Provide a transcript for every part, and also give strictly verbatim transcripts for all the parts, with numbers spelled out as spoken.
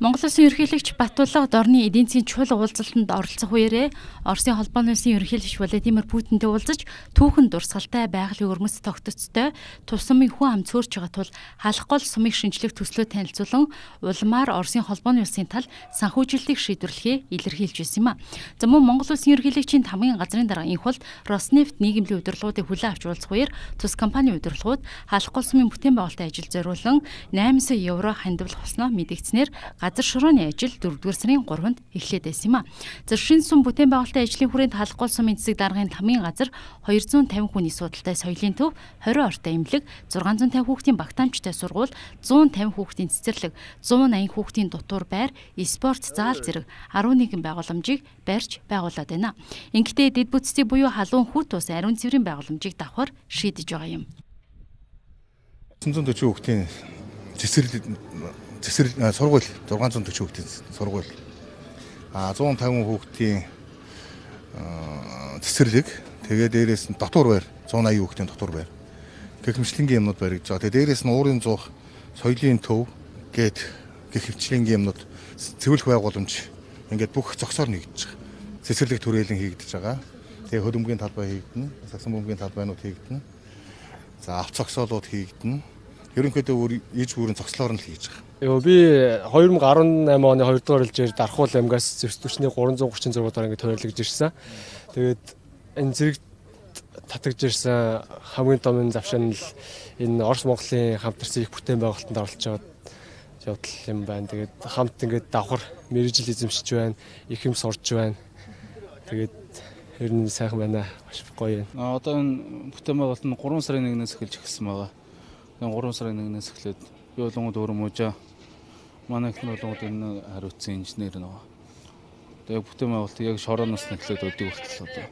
Монгол Улсын ерөнхийлөгч Батулга Дорны эдийн засгийн чухал уулзалтанд оролцох үеэрээ Оросын холбооны улсын ерөнхийлөгч Владимир Путинтэй уулзаж түүхэн дурсгалтай байгалийн өрмөц тогтцтой тусамын хүн ам цөөрч байгаа тул халах гол сумыг шинжлэх төслөө танилцуулан улмаар Оросын холбооны улсын тал санхүүжилтийг шийдвэрлэхээ илэрхийлж байсан юм а. За мөн Монгол Улсын ерөнхийлөгчийн тамгын газрын дарга инхвол Роснефть нийгэмлэг удирдлагуудыг хүлээн авч уулзах үеэр тус компани удирдлагууд халах гол сумын бүтээн байгуулалтын ажил зориулан найман сая евро хандивал хуснаа мэдэгдснээр газар шорооны ажил дөрөвдүгээр сарын гуравнд эхлээд байсан юм а. За шинэ сум бүтээн байгуулалтын ажлын хүрээнд халах гол сумын засаг даргын тамгын газар хоёр зуун тавин хүний судалтай соёлын төв, хорин ортой эмнэлэг, зургаан зуун тавин хүүхдийн багтаамжтай сургууль, зуун тавин хүүхдийн цэцэрлэг, зуун аян хүүхдийн дутуур байр, спорт зал зэрэг арван нэгэн байгууламжийг барьж байгуулад байна. Ингэхдээ дэд бүтцийн буюу халуун хүүт ус ариун цэврийн байгууламжийг давхар шийдэж байгаа юм. зургаан зуун төрчийн хүүхдийн цэцэрлэг цэцэр сургууль зургаан зуун төрчийн хүүхдийн сургууль а зуун тавин хүүхдийн цэцэрлэг тэгээ дээрээс нь дотор байр зуун аян хүүхдийн дотор байр гэх мэтлэнгийн юмнууд баригдаж байгаа. Тэгээ дээрээс нь уурын зуух соёлын төв гээд гэх хвчлэнгийн юмнууд цэвэрлэх байгууламж ингээд бүх зогсоор нэгдэж байгаа. Цэцэрлэг түрээлэн хийгдэж байгаа. Тэгээ хөлбөмбөгийн талбай хийгдэнэ, сагсан бөмбөгийн талбайнууд хийгдэнэ. За авц зогсоолууд хийгдэнэ. Ерөнхийдөө иж бүрэн цогцлоор нь л хийж байгаа. Йоо би хоёр мянга арван намын оны хоёрдугаар жилээр Дархуул аймгаас зэвсдүчний гурван зуун гурван зураг дараа ингэ тойрлогдож ирсэн. Тэгээд энэ зэрэг татагж ирсэн хамгийн том завшаан нь энэ Орос Монголын хамтарсан их бүтээн байгуулалтанд оролцож байгаа явдал юм байна. Тэгээд хамт ингэ давхар мэрэгжил эзэмшиж байна, их юм сурж байна. Тэгээд ер нь сайхан байна. Маш гоё юм. А одоо энэ бүтээн байгуулалт нь гурван сарын нэгнээс эхэлж эхэлсэн байгаа. Энэ гурван сарын нэгнээс эхлээд би болонгод өөр мужаа манай их болонгод энэ хариуцсан инженер нэг. Тэгээ бүтээн байгуулалт яг шорооноос нь эхлээд өдөг хүртэл одоо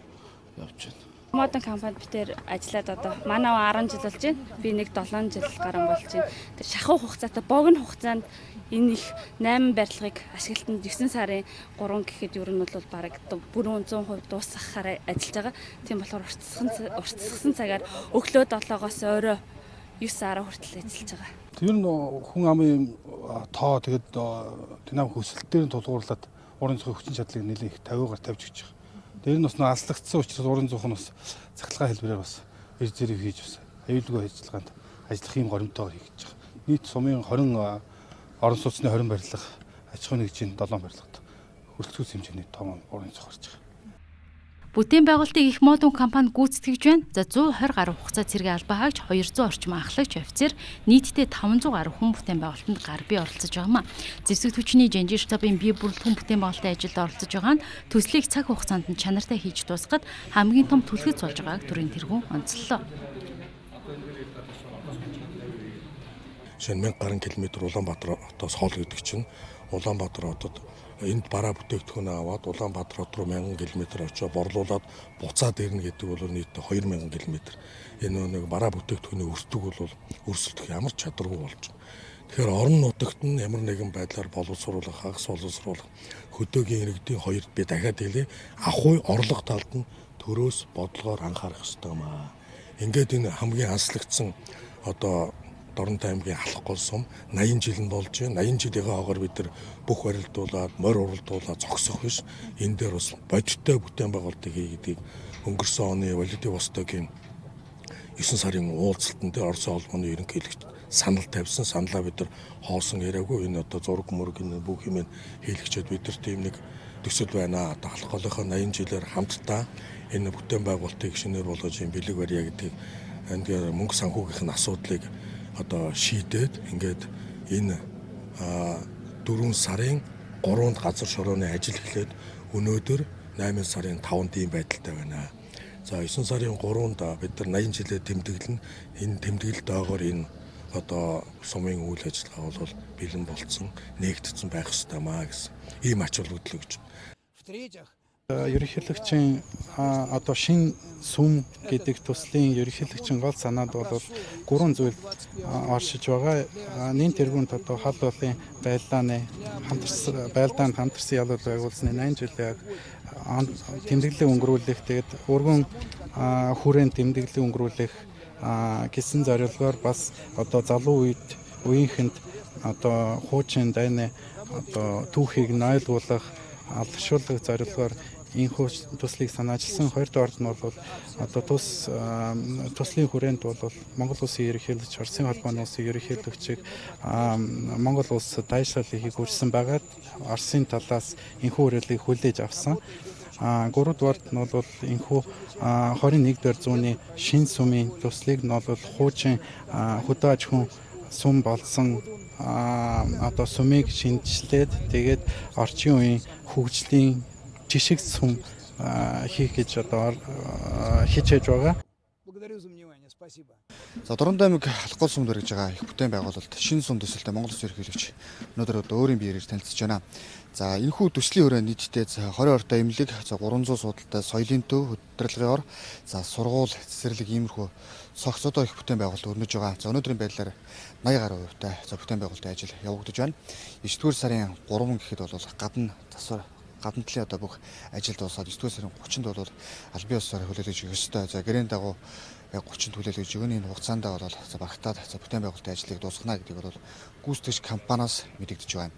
явж байна. Модон компанид битээр ажиллаад одоо манай арван жил болж байна. Би нэг долоон жил гарan болж байна. Тэр шахуу хугацаатай богино хугацаанд энэ их найман барилгыг ашиглалтанд девсэн сарын гурван гэхэд ер нь бол бараг бүрэн зуун хувь дуусгахаар ажиллаж байгаа. Тийм болохоор уртсгсан уртсгсан цагаар өглөө долоогоос орой ёс сар хүртэл ажиллаж байгаа. Тэр нь хүн амын тоо тэгээд динамик өсөлтөөр нь тулгуурлаад уран зохион хүчин чадлыг нэлээд их тавиугаар тавьж өгч байгаа. Тэр нь бас аслагдсан учраас уран зохион бас цахилгаан хэлбэрээр бас эр зэрэг хийж бас аюулгүй ажиллагаанд ажиллах юм горимтойгоор хийж байгаа. Нийт сумын хорин орон сууцны хорин барилга, аж ахуйн нэгжийн долоон барилгад хүрэлцүүлсэн хэмжээний том уран зохион гарч байгаа. Бүтээн байгуулалтыг их модон компани гүйцэтгэж байна. За зуун хорь гаруй хугацаа цэргийн албаа хаагч хоёр зуун орчим анхлагч офицер нийтдээ таван зуун гаруй хүн бүтээн байгуулалтанд гар бие оролцож байгаа юм а. Зэвсэг түвшний жанжир штабын бие бүрэлдэхүүн бүтээн байгуулалтын ажилд оролцож байгаа нь төслийг цаг хугацаанд нь чанартай хийж дуусгахад хамгийн том түлхэж болж байгааг төрийн тэргүүн онцлоо. Шинэ мянга гаруй километр Улаанбаатар хотоос хоол гэдэг чинь Улаанбаатар хотод энд бараа бүтээгдэхүүн аваад Улаанбаатар хот руу мянган километр очиж борлуулад буцаад ирнэ гэдэг бол нийт хоёр мянган километр. Энэ нэг бараа бүтээгдэхүүний өртөг бол өрсөлдөх ямар ч чадваргүй болж байна. Тэгэхээр орон нутагт нь ямар нэгэн байдлаар боловсруулах, хагас боловсруулах хөдөөгийн иргэдийн хоёрт би дахиад хэлээ ахуй орлого талд нь төрөөс бодлогоор анхаарах ёстой юм аа. Ингээд энэ хамгийн анслагдсан одоо Дорнтой аймгийн халах гол сум наян жил нь болж байна. наян жилийн хоогоор бид нар бүх барилдуулаад, морь уралдуулаад зогсох биш. Энэ дээр бас бодиттой бүтээн байгуулалтыг хийгдгийг өнгөрсөн оны Владивостогийн есөн сарын уулзалтанд Оросын холбооны ерөнхийлөгч санал тавьсан. Саналаа бид нар хоосон яриаггүй. Энэ одоо зураг мөрөг энэ бүх юм хийлгчээд бид нар тийм нэг төсөл байна. Одоо халах голынхоо наян жилээр хамтдаа энэ бүтээн байгуулалтыг шинээр болгож юм бэлэг барья гэдэг энэ мөнгө санхүүгийнх нь асуудлыг одоо шийдээд ингээд энэ дөрвөн сарын гурванд газар шорооны ажил эхлээд өнөөдөр найман сарын таванд ийм байдалтай байна. За есөн сарын гурванд бид нар наян жилээр тэмдэглэн энэ тэмдэглэлд доогоор энэ одоо сумын үйл ажиллагаа бол бэлэн болцсон, нээгдсэн байх ёстой маа гэсэн ийм ач холбогдол өгч. Ерөнхийлөгчийн одоо шин сүм гэдэг төслийн ерөнхийлөгчийн гол санаанд бол гурван зүйл оршиж байгаа. Нэн тэргүүнд одоо хал болын байлдааны хамтарсан байлдаанд хамтарсан ялууд байгуулсны найман жилийн тэмдэглэлээ өнгөрүүлэх, тэгээд өргөн хүрээнд тэмдэглэлээ өнгөрүүлэх гэсэн зорилгоор бас одоо залуу үед үеийнхэнд одоо хуучин дайны одоо түүхийг нойлгуулах, алдаршуулах зорилгоор энэхүү туслыг санаачилсан. Хоёрдугаард нь бол одоо тус туслын хүрээнд бол Монгол улсын ерөнхийлөгч, Оросын холбооны улсын ерөнхийлөгчийг Монгол улс дайшаалыг хүрсэн байгаад Оросын талаас энэхүү хүрээлийг хүлээж авсан. А гуравдугаард нь бол энэхүү хорин нэгдүгээр зууны шин сүмийн туслыг нь бол хуучин хөдөө аж ахуйн сүм болсон одоо сүмийг шинжилээд тэгээд орчин үеийн хөгжлийн жишг сүм хийх гэж одоо хичээж байгаа. За Дорнод аймаг Халхгол сүмд барьж байгаа их бүтээн байгуулалт шинэ сүм төсөлтэй Монгол Улсын ерөнхийлөгч өнөөдөр одоо өөрийн биеэр танилцж байна. За энэхүү төслийн хүрээнд нийтдээ двадцать ортой эмнэлэг, за гурван зуун судалтай соёлын төв, хөтөлбөрийн ор, за сургууль, цэцэрлэг иймэрхүү цогц одоо их бүтээн байгуулалт өрнөж байгаа. За өнөөдрийн байдлаар eighty гаруй хувьтай за бүтээн байгуулалтын ажил явагдаж байна. девятдугаар сарын three гэхэд бол гадна засвар гадна талын одоо бүх ажил дуусаад девятдугаар сарын thirtiнд бол албан ёсоор хүлээлгэж өгөх ёстой. За гэрээнд дагуу яг thirty хүлээлгэж өгнө. Энэ хугацаанд бол за багтаад за бүтээн байгуулалтын ажлыг дуусгана гэдгийг бол гүйцэтгэгч компаниас мэдэгдэж байна.